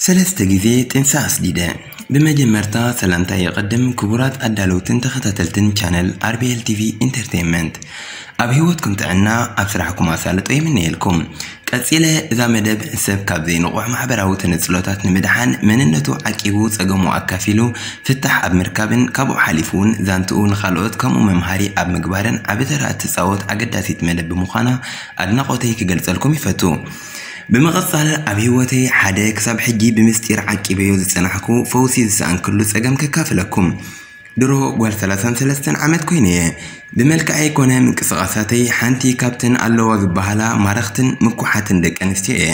ሰለስተ ግዜ ጥንሲ ኣስዲደ። ብመጀመርታ ሰላምታ የቐድም ክቡራት ኣዳለውትን ተኸታተልትን ቻነል ኣር ቢ ኤል ቲ ቪ ኢንተርቴይንመንት። ኣብ ህይወትኩም ጥዕና፣ ኣብ ስራሕኩም ኣሳልጦ ይምነየልኩም። ቀጺለ እዛ መደብ ሰብ ካብ ዘይንቑሕ ማሕበራዊ ተነጽሎታት ንምድሓን መንነቱ ዓቂቡ ጸገሙ ኣካፊሉ ፍታሕ ኣብ ምርካብን ካብኡ ሓሊፉ እውን ዛንትኡ ንኻልኦት ከምኡ መምሃሪ ኣብ ምግባርን ዓቢ ተራ እትጻወት ኣገዳሲት መደብ ብምዃና ኣድናቖተይ ክገልጸልኩም ይፈቱ። ብምቕጻል ኣብ ህይወተይ ሓደ ክሳብ ሕጂ ብምስጢር ዓቂበዮ ዝጸናሕኩ ፈውሲ ዝሰኣንክሉ ጸገም ከካፍለኩም። ድሮ ጓል ሰላሳን ሰለስተን ዓመት ኮይነ እየ። ብመልክዐይ ኮነ ምንቅስቓሳተይ ሓንቲ ካብተን ኣለዋ ዝበሃላ ማረኽትን ምኩሓትን ደቂ ኣንስትዮ እየ።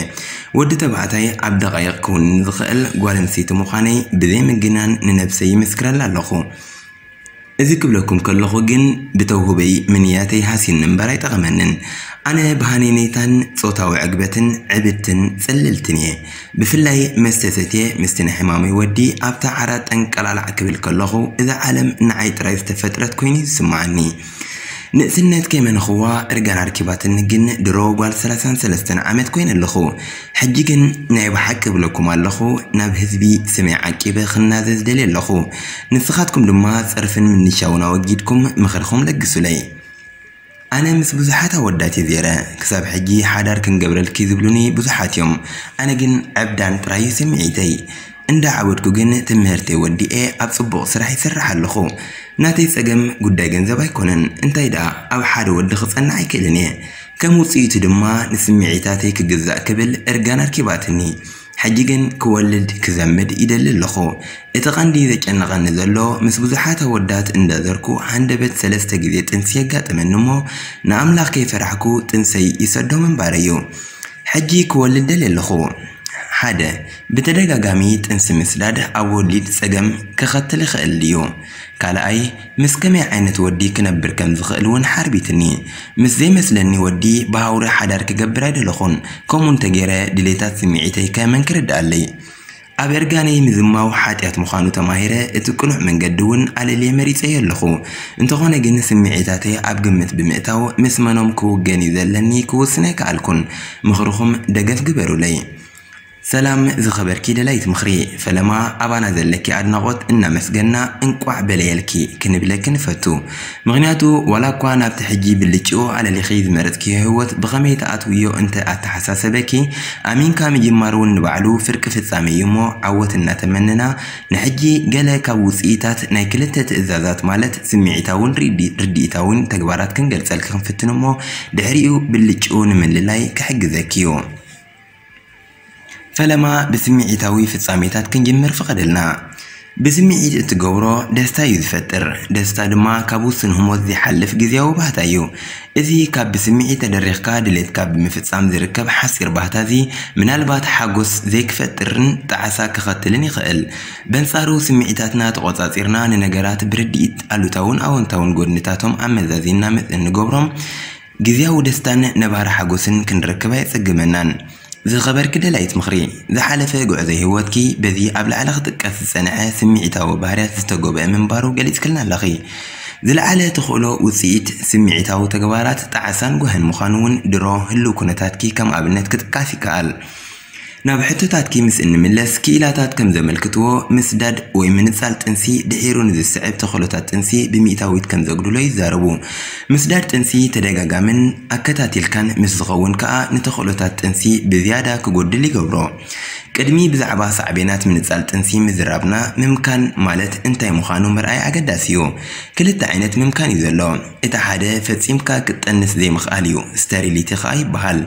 ወዲ ተባዕታይ ኣብ ደቓይቕ ክውንን ዝኽእል ጓል ኣንስተይቲ ምዃነይ ብዘይ ምግናን ንነብሰይ ይምስክረላ ኣለኹ። እዚ ክብለኩም ከለኹ ግን ብተውህበይ ምንያተይ ሃሲኒ እምበር ኣይጠቐመንን። ኣነ ብሃነይነይታን ጾታዊ ዕግበትን ዕብትን ጽልልትን እየ። ብፍላይ መስተ ሰትየ ምስቲ ናይ ሕማመይ ወዲ ኣብታ ዓራት ጠንቀላላዕ ክብል ከለኹ እዛ ዓለም ንዓይ ጥራይ ዝተፈጥረት ኮይኑ እዩ ዝስምዓኒ። ንእስነት ከይመነኽዋ እርጋን ኣርኪባትኒ ግን ድሮ ጓል ሰላሳን ሰለስተን ዓመት ኮይነ ኣለኹ። ሕጂ ግን ናይ ብሓቂ እብለኩም ኣለኹ ናብ ህዝቢ ስመይ ዓቂበ ክናዘዝ ደልየ ኣለኹ። ንስኻትኩም ድማ ጸርፍን ምንሻውን ኣወጊድኩም ምኽርኹም ለግሱለይ። ኣነ ምስ ብዙሓት ኣወዳት እየ ዜረ። ክሳብ ሕጂ ሓዳር ክንገብረልኪ ዝብሉኒ ብዙሓት እዮም። ኣነ ግን ዕብዳን ጥራይ እዩ ስምዒተይ። እንዳ ዓበድኩ ግን ትምህርተይ ወዲኤ ኣብ ጽቡቕ ስራሕ ይሰርሕ ኣለኹ። ናተይ ጸገም ጉዳይ ገንዘብ ኣይኮነን። እንታይ ደኣ ኣብ ሓደ ወዲ ክጸንዕ ኣይክእልን እየ። ከም ውጽኢቱ ድማ ንስምዒታተይ ክግዛእ ክብል እርጋን ኣርኪባትኒ። ሕጂ ግን ክወልድ ክዘምድ ይደሊ ኣለኹ። እቲ ቀንዲ ዘጨንቐኒ ዘሎ ምስ ብዙሓት ኣወዳት እንዳዘርኩ ሃንደበት ሰለስተ ግዜ ጥንሲ የጋጥመኒ እሞ ንኣምላኽ ከይፈራሕኩ ጥንሰይ ይሰዶ ምንባረይ እዩ። ሕጂ ክወልድ ደልየ ኣለኹ። ሓደ፣ ብተደጋጋሚ ጥንሲ ምስዳድ ኣብ ወሊድ ጸገም ከኸትል ይኽእል ድዩ? ካልኣይ፣ ምስ ከመይ ዓይነት ወዲ ክነብር ከም ዝኽእል እውን ሓርቢትኒ። ምስ ዘይመስለኒ ወዲ ብሃውሪ ሓዳር ክገብር ኣይደለኹን። ከምኡ እንተገይረ ድሌታት ስምዒተይ ከመን ክርድኣለይ? ኣብ እርጋነይ ምዝማው ሓጢኣት ምዃኑ ተማሂረ እቲ ቅኑዕ መንገዲ እውን ኣለልየ መሪጸዮ ኣለኹ። እንተኾነ ግን ስምዒታተይ ኣብ ግምት ብምእታው ምስ መኖም ክውገን እዩ ዘለኒ ክውስን ኣይከኣልኩን። ምኽርኹም ደገፍ ግበሩለይ። ሰላም ዝኸበርኪ ደላይት ምኽሪ ፈለማ፣ ኣባና ዘለኪ ኣድናቖት እናመስገና እንቋዕ በለየልኪ ክንብለኪ ንፈቱ። ምኽንያቱ ዋላ እኳ ናብቲ ሕጂ ብልጭኡ ኣለሊኺ ዝመረጽክዮ ህይወት ብኸመይ ትኣትውዮ እንተ ኣተሓሳሰበኪ፣ ኣሚንካ ምጅማር እውን ንባዕሉ ፍርቂ ፍጻመ እዩ እሞ ዓወት እናተመነና፣ ንሕጂ ገለ ካብ ውጽኢታት ናይ ክልተ ትእዛዛት ማለት ስምዒታውን ርዲ-፣ ርድኢታውን ተግባራት ክንገልጸልኪ ክንፍትን እሞ ድሕሪኡ ብልጭኡ ንምልላይ ክሕግዘኪ እዩ። ፈለማ ብስምዒታዊ ፍጻሜታት ክንጅምር ፍቐደልና። ብስምዒት እትገብሮ ደስታ እዩ ዝፈጥር። ደስታ ድማ ካብ ውሱን ህሞት ዘይሓልፍ ግዜያዊ ባህታ እዩ። እዚ ካብ ብስምዒት ተደሪኽካ ድሌትካ ብምፍጻም ዝርከብ ሓጺር ባህታ እዚ ምናልባት ሓጎስ ዘይክፈጥርን ጣዕሳ ክኸትልን ይኽእል። በንጻሩ ስምዒታትና ተቖጻጺርና ንነገራት ብርድኢት ኣሉታውን ኣወንታውን ጎድንታቶም ኣመዛዚንና መ-፣ እንገብሮም ግዜያዊ ደስታን ነባሪ ሓጎስን ክንረክብ ኣየጸግመናን። ዝኸበርኪ ደላይት ምኽሪ፣ ዝሓለፈ ጉዕዞ ህይወትኪ በዚ ኣብ ላዕሊ ክጥቀስ ዝጸንሐ ስምዒታዊ ባህርያት ዝተጎብአ ምንባሩ ገሊጽክልና ኣለኺ። ዝለዓለ ተኽእሎ ውጽኢት ስምዒታዊ ተግባራት ጣዕሳን ጓህን ምዃኑ እውን ድሮ ህልው ኩነታትኪ ከም ኣብነት ክጥቀስ ይከኣል። ናብ ሕቶታትኪ ምስ እንምለስ፣ ክኢላታት ከም ዘመልክትዎ፣ ምስዳድ ወይ ምንጻል ጥንሲ ድሒሩ ንዝስዕብ ተኽእሎታት ጥንሲ ብሚእታዊት ከም ዘጉድሎ ይዛረቡ። ምስዳድ ጥንሲ ተደጋጋምን ኣከታቲልካን ምስ ዝኸውን ከኣ፣ ንተኽእሎታት ጥንሲ ብዝያዳ ክጎድል ይገብሮ። ቅድሚ ብዛዕባ ሳዕቤናት ምንጻል ጥንሲ ምዝራብና፣ ምምካን ማለት እንታይ ምዃኑ ምርኣይ ኣገዳሲ እዩ። ክልተ ዓይነት ምምካን እዩ ዘሎ። እቲ ሓደ ፈጺምካ ክትጠንስ ዘይምኽኣል እዩ፣ ስቴሪሊቲ ከኣ ይበሃል።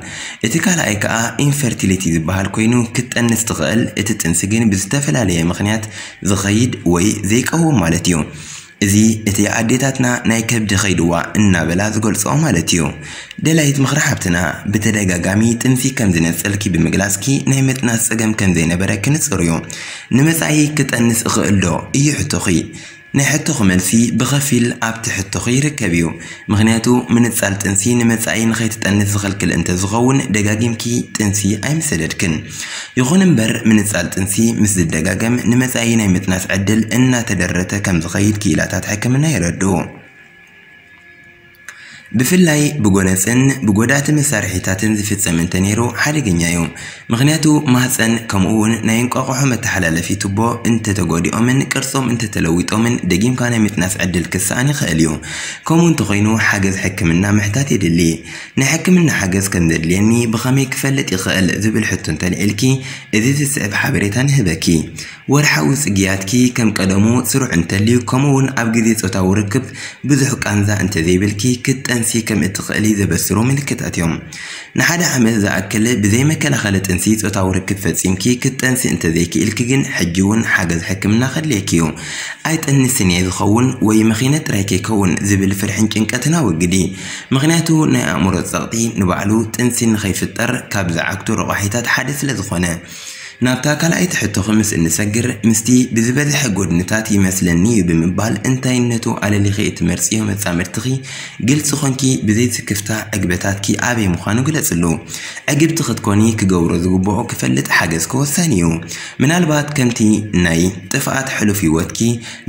እቲ ካልኣይ ከኣ ኢንፈርቲሊቲ ዝበሃል ኮይኑ፣ ክትጠንስ ትኽእል፣ እቲ ጥንሲ ግን ብዝተፈላለየ ምኽንያት ዝኸይድ ወይ ዘይቀውም ማለት እዩ። እዚ እቲ ኣዴታትና ናይ ከብዲ ከይድዋ እናበላ ዝገልጽኦ ማለት እዩ። ደላይት ምኽሪ ሓብትና፣ ብተደጋጋሚ ጥንሲ ከም ዝነጸልኪ ብምግላጽኪ ናይ ምጥናስ ጸገም ከም ዘይነበረኪ ንጹር እዩ። ንመጻኢ ክጠንስ እኽእል ዶ እዩ ሕቶኺ። ናይ ሕቶኺ መልሲ ብኸፊል ኣብቲ ሕቶኺ ይርከብ እዩ። ምኽንያቱ ምንጻል ጥንሲ ንመጻኢ ንኸይትጠንስ ዝኸልክል እንተዝኸውን ደጋጊምኪ ጥንሲ ኣይምሰደድክን። ይኹን እምበር ምንጻል ጥንሲ ምስ ዝደጋገም ንመጻኢ ናይ ምጥናስ ዕድል እናተደረተ ከም ዝኸይድ ክኢላታት ሕክምና የረድኡ። ብፍላይ ብጎነጽን ብጎዳእቲ መሳርሒታትን ዝፍጸም እንተነይሩ ሓደገኛ እዩ። ምኽንያቱ ማህጸን ከምኡ እውን ናይ እንቋቑሖ መተሓላለፊ ቱቦ እንተተጎዲኦምን ቅርጾም እንተተለዊጦምን ደጊምካ ናይ ምጥናስ ዕድል ክሰኣን ይኽእል እዩ። ከምኡ እንተኾይኑ ሓገዝ ሕክምና ምሕታት የድሊ። ናይ ሕክምና ሓገዝ ከም ዘድልየኒ ብኸመይ ክፈልጥ ይኽእል ዝብል ሕቶ እንተልዒልኪ እዚ ዝስዕብ ሓበሬታ ንህበኪ። ወርሓዊ ጽግያትኪ ከም ቀደሙ ስሩዕ እንተልዩ ከምኡ እውን ኣብ ግዜ ጾታዊ ርክብ ብዙሕ ቃንዛ እንተዘይብልኪ ክትጠንሲ ከም እትኽእሊ ዘበስሩ ምልክታት እዮም። ንሓደ ዓመት ዝኣክል ብዘይ መከላኸሊ ጥንሲ ጾታዊ ርክብ ፈጺምኪ ክትጠንሲ እንተዘይክኢልኪ ግን ሕጂ እውን ሓገዝ ሕክምና ከድልየኪ እዩ። ኣይጠንስን እየ ዝኸውን ወይ መኺነ ጥራይ ከይከውን ዝብል ፍርሕን ጭንቀትን ኣወግዲ። ምኽንያቱ ናይ ኣእምሮ ጸቕጢ ንባዕሉ ጥንሲ ንኸይፍጠር ካብ ዝዓግቱ ረቋሒታት ሓደ ስለ ዝኾነ። ናብታ ካልኣይቲ ሕቶኺ ምስ እንሰግር ምስቲ ብዝበዝሐ ጎድንታት ይመስለኒ እዩ ብምባል እንታይነቱ ኣለሊኺ እትመርጽዮ መጻምድትኺ ግልጺ ኾንኪ ብዘይ ስክፍታ ዕግበታትኪ ኣበይ ምዃኑ ግለጽሉ። ዕግብቲ ክትኮኒ ክገብሮ ዝግብኦ ክፈልጥ ሓገዝኪ ወሳኒ እዩ። ምናልባት ከምቲ ናይ ጥፍኣት ሕሉፍ ህይወትኪ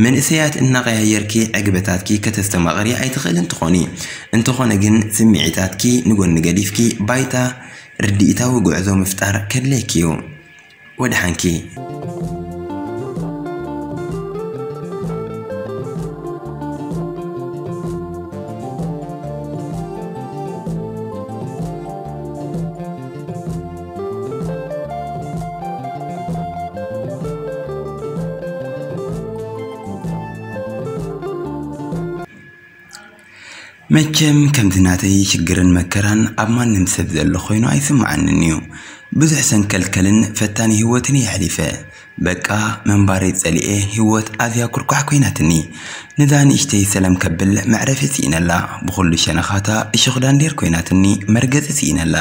መንእሰያት እናቐያየርኪ ዕግበታትኪ ከተስተማቕሪ ኣይትኽእልን ትኾኒ። እንተኾነ ግን ስምዒታትኪ ንጎኒ ገዲፍኪ ባይታ ርድኢታዊ ጉዕዞ ምፍጣር ከድልየኪ እዩ። ወድሓንኪ። መቸም ከምዚ ናተይ ሽግርን መከራን ኣብ ማንም ሰብ ዘሎ ኮይኑ ኣይስምዓንን እዩ። ብዙሕ ሰንከልከልን ፈታኒ ህይወትን እየ ኣሕሊፈ። በቃ ምንባረይ ጸሊኤ ህይወት ኣዝያ ኩርኳሕ ኮይናትኒ። ነዛ ንእሽተይ ሰላም ከብል መዕረፊ ስኢነላ። ብኹሉ ሸነኻታ እሾኽ ዳንዴር ኮይናትኒ መርገጺ ስኢነላ።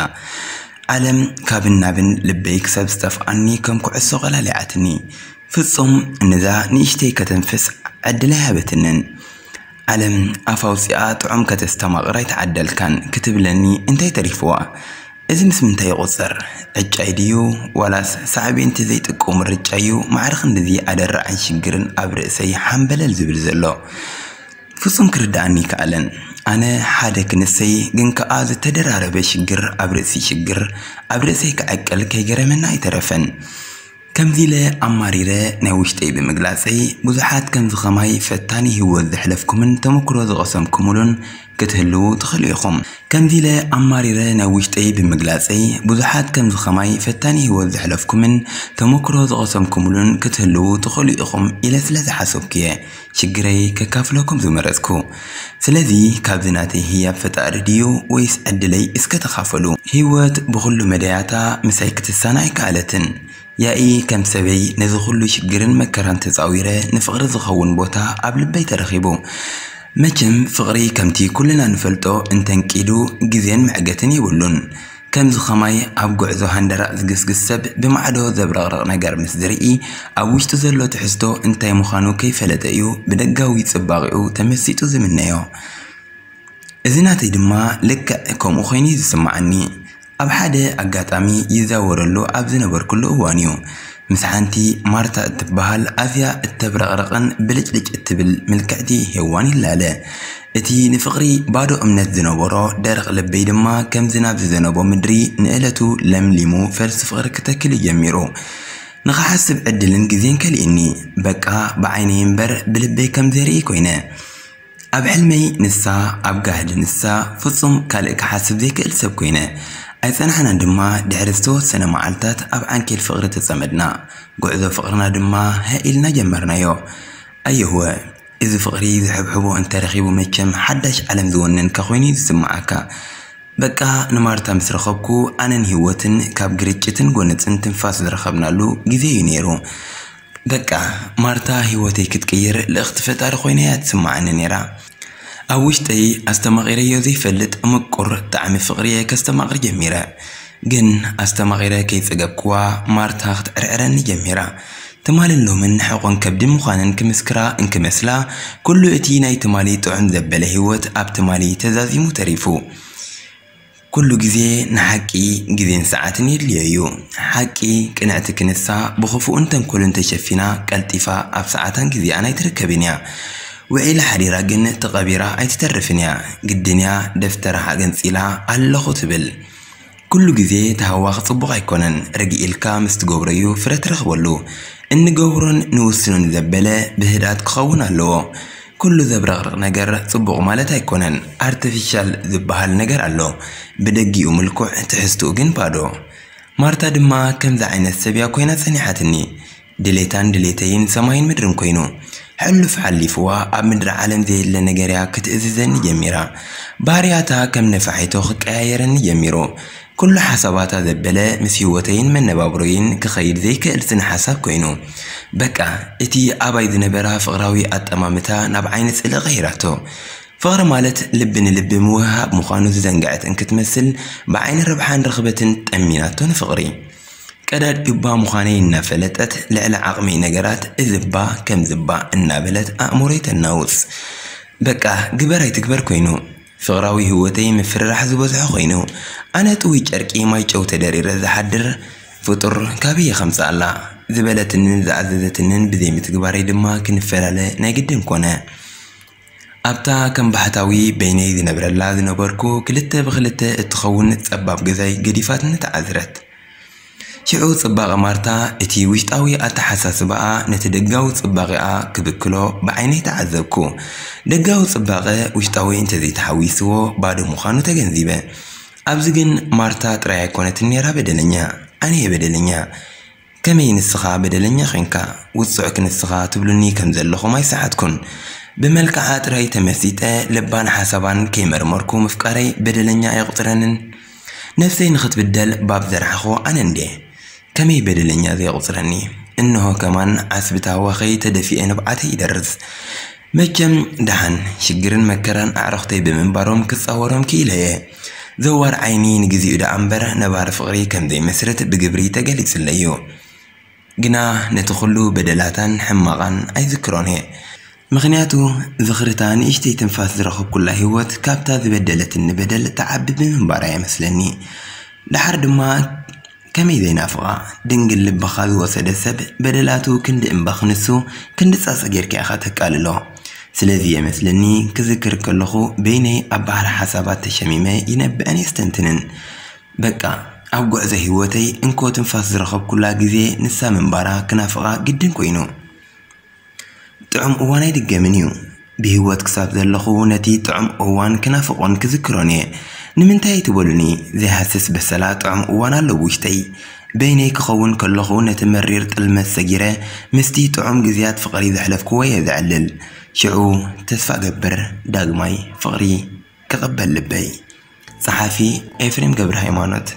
ዓለም ካብን ናብን ልበይ ክሳብ ዝጠፍኣኒ ከም ኩዕሶ ቀላሊዓትኒ። ፍጹም ነዛ ንእሽተይ ከተንፍስ ዕድል ኣይሃበትንን። ዓለም ኣፍ ኣውጺኣ ጥዑም ከተስተማቕር ኣይተዓደልካን ክትብለኒ እንታይ ተሪፍዋ? እዚ ምስ ምንታይ ይቑጸር? ዕጫይ ድዩ ዋላስ ሳዕቤንቲ ዘይጥቅኡ ምርጫ እዩ ማዕረ ክንድዚ ኣደራዕን ሽግርን ኣብ ርእሰይ ሓምበለል ዝብል ዘሎ? ፍጹም ክርድኣኒ ይከኣለን። ኣነ ሓደ ክንሰይ ግን ከኣ ዝተደራረበ ሽግር ኣብ ርእሲ ሽግር ኣብ ርእሰይ ክዕቅል ከይገረመና ኣይተረፈን። ከምዚ ኢለ ኣማሪረ ናይ ውሽጠይ ብምግላጸይ ብዙሓት ከምዚ ኸማይ ፈታኒ ህይወት ዘሕለፍኩምን ተመክሮ ዝቐሰምኩምሉን ክትህልዉ ትኽእሉ ኢኹም። ከምዚ ኢለ ኣማሪረ ናይ ውሽጠይ ብምግላጸይ ብዙሓት ከምዚ ኸማይ ፈታኒ ህይወት ዘሕለፍኩምን ተመክሮ ዝቐሰምኩምሉን ክትህልዉ ትኽእሉ ኢኹም ኢለ ስለ ዝሓሰብኩ እየ ሽግረይ ከካፍለኩም ዝመረጽኩ። ስለዚ ካብዚ ናተይ ህያብ ፈጣሪ ድዩ ወይስ ዕድለይ እስከ ተኻፈሉ። ህይወት ብኹሉ መዳያታ ምሳይ ክትሳነ ኣይከኣለትን። ያኢ ከም ሰበይ ነዚ ኩሉ ሽግርን መከራን ተጻዊረ ንፍቕሪ ዝኸውን ቦታ ኣብ ልበይ ተረኺቡ። መቸም ፍቕሪ ከምቲ ኩልና ንፈልጦ እንተንቂዱ ግዜን መዕገትን የብሉን። ከምዚ ኸማይ ኣብ ጉዕዞ ሃንደራእ ዝግስግስ ሰብ ብማዕዶ ዘብረቕርቕ ነገር ምስ ዝርኢ ኣብ ውሽጡ ዘሎ ትሕዝቶ እንታይ ምዃኑ ከይፈለጠ እዩ ብደጋዊ ጽባቕኡ ተመሲጡ ዝምነዮ። እዚ ናተይ ድማ ልክዕ ከምኡ ኮይኑ እዩ ዝስምዓኒ። ኣብ ሓደ ኣጋጣሚ ይዛወረሉ ኣብ ዝነበርኩሉ እዋን እዩ። ምስ ሓንቲ ማርታ እትበሃል ኣዝያ እተብረቕርቕን ብልጭልጭ እትብል ምልክዕቲ ሄዋን ይላለ። እቲ ንፍቕሪ ባዶ እምነት ዝነበሮ ደረቕ ልበይ ድማ ከም ዝናብ ዝዘነቦ ምድሪ ንእለቱ ለምሊሙ ፈልሲ ፍቕሪ ክተክል እዩ ጀሚሩ። ንኽሓስብ ዕድልን ግዜን ከሊእኒ። በቃ ብዓይነይ እምበር ብልበይ ከም ዘይርኢ ኮይነ። ኣብ ሕልመይ ንሳ፣ ኣብ ጋህዲ ንሳ፣ ፍጹም ካልእ ክሓስብ ዘይክእል ሰብ ኮይነ። ኣይጸናሕናን ድማ ድሕሪ ዝተወሰነ መዓልታት ኣብ ዓንኬል ፍቕሪ ተጸመድና። ጉዕዞ ፍቕርና ድማ ሃእ ኢልና ጀመርናዮ። ኣየህወ፣ እዚ ፍቕሪ ዝሕብሕቦ እንተረኺቡ መቸም ሓዳሽ ዓለም ዝወነንካ ኮይኑ እዩ ዝስምዓካ። በቃ ንማርታ ምስ ረኸብኩ ኣነን ህይወትን ካብ ግርጭትን ጎነጽን ትንፋስ ዝረኸብናሉ ግዜ እዩ ነይሩ። በቃ፣ ማርታ ህይወተይ ክትቅይር ልእኽቲ ፈጣሪ ኮይና እያ ትስምዓኒ ነይራ። ኣብ ውሽጠይ ኣስተማቒረዮ ዘይፈልጥ ምቁር ጣዕሚ ፍቕሪ እየ ከስተማቕር ጀሚረ። ግን ኣስተማቒረ ከይጸገብክዋ፣ ማርታ ክትዕርዕረኒ ጀሚራ። ትማልን ሎምን ሕቖን ከብዲ ምዃነን ክምስክራ እንክመስላ፣ ኩሉ እቲ ናይ ትማሊ ጥዑም ዘበለ ህይወት ኣብ ትማሊ ተዛዚሙ ተሪፉ። ኩሉ ግዜ ንሓቂ ግዜን ሰዓትን የድልዮ እዩ። ሓቂ ቅንዕቲ ክንሳ ብኽፉእን ተንኮልን ተሸፊና ቀልጢፋ ኣብ ሰዓታን ግዜኣን ኣይትርከብን እያ። ውዒላ ሓዲራ ግን ተቐቢራ ኣይትተርፍን እያ። ግድን እያ ደፍተራ ኣገንጺላ ኣለኹ ትብል። ኩሉ ግዜ ተሃዋኽ ጽቡቕ ኣይኮነን። ርግእ ኢልካ ምስ ትገብሮ እዩ ፍረ ትረኽበሉ። እንገብሮን ንውስኖን ዘበለ ብህድኣት ክኸውን ኣለዎ። ኩሉ ዘብረቕርቕ ነገር ጽቡቕ ማለት ኣይኮነን። ኣርቲፊሻል ዝበሃል ነገር ኣሎ። ብደጊኡ ምልኩዕ፣ ትሕዝትኡ ግን ባዶ። ማርታ ድማ ከምዚ ዓይነት ሰብ እያ ኮይና ጸኒሓትኒ። ድሌታን ድሌተይን ሰማይን ምድርን ኮይኑ። ሕሉፍ ሓሊፍዋ ኣብ ምድሪ ዓለም ዘየለ ነገር እያ ክትእዝዘኒ ጀሚራ። ባህርያታ ከም ነፋሒቶ ክቀያየረኒ ጀሚሩ። ኩሉ ሓሳባታ ዘበለ ምስ ህይወተይን መነባብሮይን ክኸይድ ዘይክእል ስነ ሓሳብ ኮይኑ። በቃ፣ እቲ ኣባይ ዝነበራ ፍቕራዊ ኣጠማምታ ናብ ዓይኒ ጽልኢ ቀይራቶ። ፍቕሪ ማለት ልቢ ንልቢ ምውህሃብ ምዃኑ ዝዘንግዐት እንክትመስል፣ ብዓይኒ ረብሓን ርኽበትን ጠሚናቶ ንፍቕሪ። ቀዳድ እባ ምዃነይ እናፈለጠት ልዕሊ ዓቕሚ ነገራት እዚ እባ ከምዚ እባ እናበለት ኣእምሮይ ተናውጽ። በቃ፣ ግበር ኣይትግበር ኮይኑ። ፍቕራዊ ህይወተይ ምፍርራሕ ዝበዝሖ ኮይኑ። ኣነ ጥውይ ጨርቂ ማይ ጨው ተደሪረ ዝሓድር ፍጡር ካበይ እየ ከምጽኣላ ዝበለትንን ዝኣዘዘትንን ብዘይምትግባረይ ድማ ክንፈላለ ናይ ግድን ኮነ። ኣብታ ከም ባሕታዊ በይነይ ዝነብረላ ዝነበርኩ ክልተ ብክልተ እትኸውን ጸባብ ገዛይ ገዲፋትኒ ተዓዝረት። ሽዑ ጽባቐ ማርታ፣ እቲ ውሽጣዊ ኣተሓሳስባኣ ነቲ ደጋዊ ጽባቐኣ ክብክሎ ብዓይነይ ተዓዘብኩ። ደጋዊ ጽባቐ ውሽጣዊ እንተዘይተሓዊስዎ ባዶ ምዃኑ ተገንዚበ። ኣብዚ ግን ማርታ ጥራይ ኣይኮነትን ነይራ በደለኛ፣ ኣነ እየ በደለኛ። ከመይ ንስኻ በደለኛ ኾንካ? ውጹዕ ክንስኻ ትብሉኒ ከም ዘለኹም ኣይሰሓትኩን። ብመልክዓ ጥራይ ተመሲጠ ልባን ሓሳባን ከይመርመርኩ ምፍቃረይ በደለኛ ኣየቑጽረንን። ነፍሰይ ንኽትብደል ባብ ዘርሓኹ ኣነ እንዴ? ከመይ በደለኛ ዘየቑጽረኒ? እንሆ ከማን ዓስቢ ታህዋኸይ ተደፊኤ ንብዓተይ ይደርዝ። መቸም ደሓን ሽግርን መከራን ኣዕሩኽተይ ብምንባሮም ክጻወሮም ክኢለ እየ። ዘዋር ዓይኒ ንግዚኡ ደኣ እምበር ነባሪ ፍቕሪ ከም ዘይመስርት ብግብሪ ተገሊጹለይ እዩ። ግና ነቲ ኩሉ በደላታን ሕማቓን ኣይዝክሮን እየ። ምኽንያቱ ዝኽርታ ንእሽተይ ትንፋስ ዝረኸብኩላ ህይወት ካብታ ዝበደለትኒ በደል ትዓቢ ብምንባራ እየ መስለኒ። ደሓር ድማ ከመይ ዘይናፍቓ? ድንግል ልብኻ ዝወሰደ ሰብ በደላቱ ክንዲ እምባ ክንሱ ክንዲ ጻጸ ጌርካ ኢኻ ተቃልሎ። ስለዚ እየ መስለኒ ክዝክር ከለኹ በይነይ ኣብ ባሕሪ ሓሳባት ተሸሚመ ይነብዕን የስተንትንን። በቃ፣ ኣብ ጉዕዞ ህይወተይ እንኮ ትንፋስ ዝረኸብኩላ ግዜ ንሳ ምንባራ ክናፍቓ ግድን ኮይኑ። ጥዑም እዋን ኣይድገምን እዩ። ብህይወት ክሳብ ዘለኹ ነቲ ጥዑም እዋን ክናፍቖን ክዝክሮን እየ። ንምንታይ ኣይትበሉኒ? ዘይሃስስ በሰላ ጥዑም እዋን ኣሎ ብውሽጠይ። በይነይ ክኸውን ከለኹ ነቲ መሪር ጥልመት ሰጊረ ምስቲ ጥዑም ግዜያት ፍቕሪ ዘሕለፍክዎ እየ ዘዕልል። ሽዑ ተስፋ እገብር ዳግማይ ፍቕሪ ክቕበል ልበይ። ጸሓፊ ኤፍሬም ገብረ ሃይማኖት።